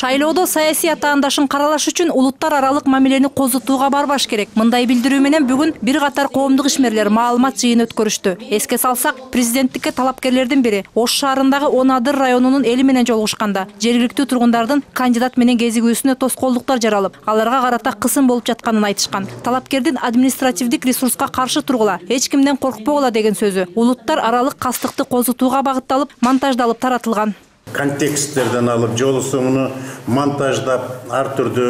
Шайлоодо саясий атаандашын каралаш үчүн улуттар аралык мамилени козутууга барбаш керек. Мындай билдирүү менен бүгүн бир катар коомдук ишмерлер маалымат жыйыны өткөрүштү. Эске салсак, президенттикке талапкерлердин бири Ош шаарындагы Онадыр районунун эли менен жолугушканда жергиликтүү тургундардын кандидат менен кезигүүсүнө тоскоолдуктар жаралып, аларга карата кысым болуп жатканын айтышкан. Талапкердин административдик ресурска каршы тургула, эч кимден коркпогула деген сөзү улуттар аралык кастыкты козутууга багытталып, монтаждалып таратылган. Контексттерден алып, жолу соңуну монтаждап, ар түрдүү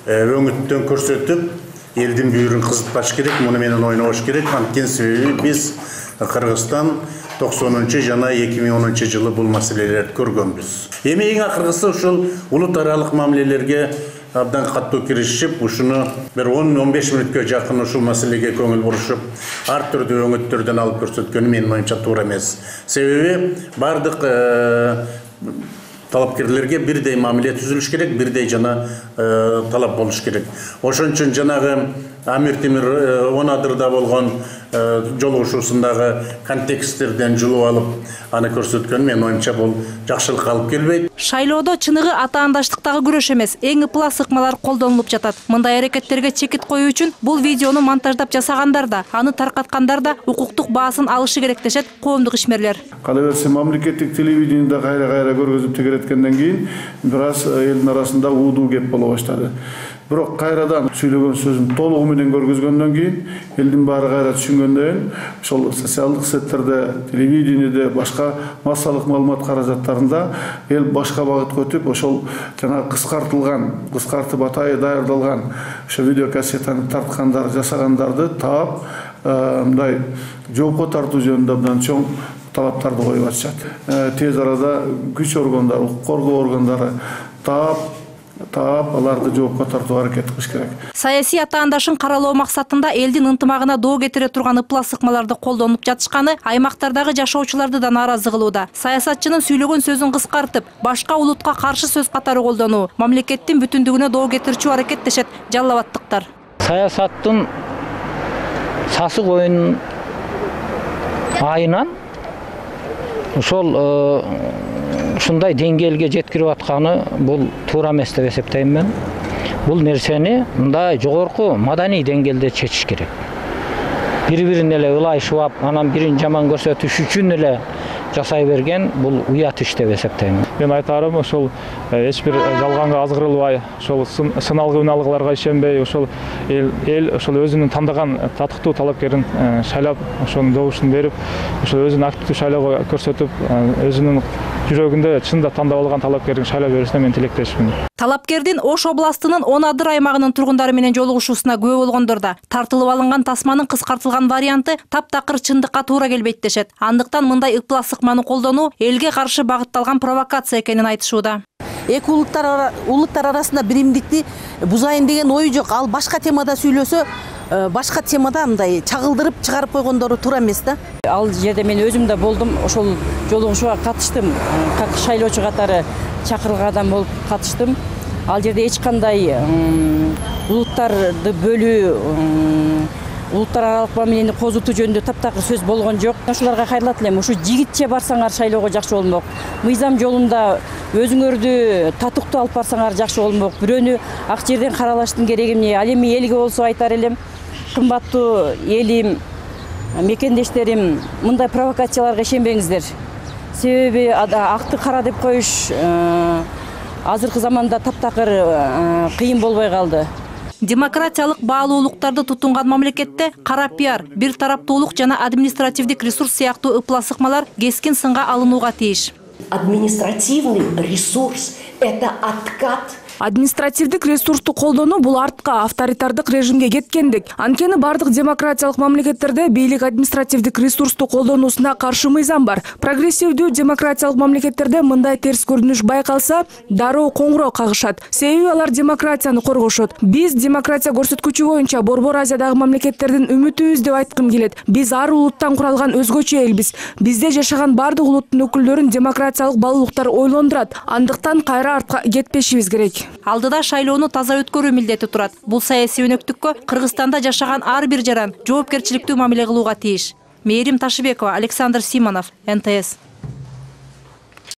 өңүттөн көрсөтүп, элдин бүйүрүн кызытпаш керек, муну менен ойнобош керек. Анткени себеби биз Кыргызстан 90 жана 2010 жылы бул маселелерди көргөнбүз. Эми эң акыркысы ушул улут аралык мамилелерге абдан каттуу киришип, ушуну бир 10-15 мүнөткө жакын ушул маселеге көңүл бурушуп, ар түрдүү өңүттөрдөн алып көрсөткөнү менин оюмча туура эмес. Себеби бардык талапкерлерге бирдей мамиле түзүлүш керек, бирдей жана талап болуш керек. Ошон үчүн жанагы Амир Темир Онадырда болгон жолугушуусундагы контексттерден жулуп алып, аны көрсөткөн менин оюмча бул жакшылыкка алып келбейт. Шайлоодо чыныгы атаандаштыктагы күрөш эмес, эң ыплас ыкмалар колдонулуп жатат. Мындай аракеттерге чекит коюу үчүн бул видеону монтаждап жасагандар да, аны таркаткандар да укуктук баасын алышы керек дешет коомдук ишмерлер. Кала берсе мамлекеттик телевидениеде кайра көргөзүп тегереткенден кийин бир аз элдин арасында уудуу кеп боло баштады. Бирок кайрадан сүйлөгөн сөзүн толугу менен көргөзгөндөн кийин элдин баары кайра түшүнгөндөн ошол социалдык сеттерде, телевидениеде, башка массалык маалымат каражаттарында эл башка багытка өтүп, ошол жана кыскартып атайы даярдалган ошо видеокассетаны тарткандар, жасагандарды таап, мындай жоопко тартуу жөнүндө абдан чоң талаптарды коюп атышат. Тез арада күч органдары, укук коргоо органдары таап аларды жоопко тартууга аракет кылыш керек. Саясий атаандашын каралоо максатында элдин ынтымагына доо кетире турган ыплас ыкмаларды колдонуп жатышканы аймактардагы жашоочуларды да нааразы кылууда. Саясатчынын сүйлөгөн сөзүн кыскартып, башка улутка каршы сөз катары колдонуу мамлекеттин бүтүндүгүнө доо кетирчү аракет дешет Жалал Абадтыктар. Саясаттын сасык оюнун айынан ошол ушундай деңгээлге жеткирип атканы бул туура эмес деп эсептейм мен. Бул нерсени мындай жогорку маданий деңгээлде чечиш керек. Бири-бирин эле ылайшып, анан бирин жаман көрсөтүш үчүн эле жасай берген бул уят иш деп эсептейм. Мен айтарым, ошол эч бир жалганга азгырылбай, ошол сыналгы үналгыларга ишенбей, ошол эл ошол өзүнүн тандаган татыктуу талапкерин шайлап, ошонун добушун берип, ошол өзүн активдүү шайлоого көрсөтүп, өзүнүн жүрөгүндө чында тандап алган талапкерин шайлап беришине мен тилектешмин. Талапкердин Ош областынын Онадыр аймагынын тургундары менен жолугушуусуна күбө болгондор да тартылып алынган тасманын кыскартылган варианты таптакыр чындыкка туура келбейт дешет. Андыктан мындай ыплас ыкманы колдонуу элге каршы багытталган провокация экенин айтышууда. Эки улуттар арасында биримдикти бузайын деген ою жок. Ал башка темада сүйлөсө, башка темада мындай чагылдырып чыгарып койгондору туура эмес да. Ал жерде мен өзүм да болдум, ошол жолугушууга катыштым. Как шайлоочу катары чакырылган адам болуп катыштым. Ал жерде эч кандай улуттарды бөлүү, улуттар аралык мамилени козутуу жөнүндө таптакыр сөз болгон жок. Ошолорго кайрылат элем, ушу жигитче барсаңар шайлоого жакшы болмок. Мыйзам жолунда өзүңөрдү татыктуу алып барсаңар жакшы болмок. Бирөөнү ак жерден каралаштын кереги эмне? Ал эми элге болсо айтар элем, кымбаттуу элим, мекендештерим, мындай провокацияларга ишенбеңиздер. Себеби акты кара деп коюш азыркы заманда таптакыр кыйын болбой калды. Демократиялык баалуулуктарды тутунган мамлекетте кара пиар, бир тараптуулук жана административдик ресурс сыяктуу ыплас ыкмалар кескин сынга алынууга тийиш. Административный ресурс – это откат. Административдик ресурсту колдонуу бул артка, авторитардык режимге кеткендик. Анткени бардык демократиялык мамлекеттерде бийлик административдик ресурсту колдонуусуна каршы мыйзам бар. Прогрессивдүү демократиялык мамлекеттерде мындай терс көрүнүш байкалса, дароо коңгуроо кагышат. Себеби алар демократияны коргошот. Биз демократия көрсөткүчү боюнча Борбор Азиядагы мамлекеттердин үмүтүбүз деп айткым келет. Биз ар улуттан куралган өзгөчө элбиз. Бизде жашаган бардык улуттун өкүлдөрүн демократиялык баалуулуктар ойлондурат. Андыктан кайра артка кетпешибиз керек. Алдыда шайлоону таза өткөрүү милдети турат. Бул саясий өнөктүккө Кыргызстанда жашаган ар бир жаран жоопкерчиликтүү мамиле кылууга тийиш. Мээрим Ташыбекова, Александр Симонов, НТС.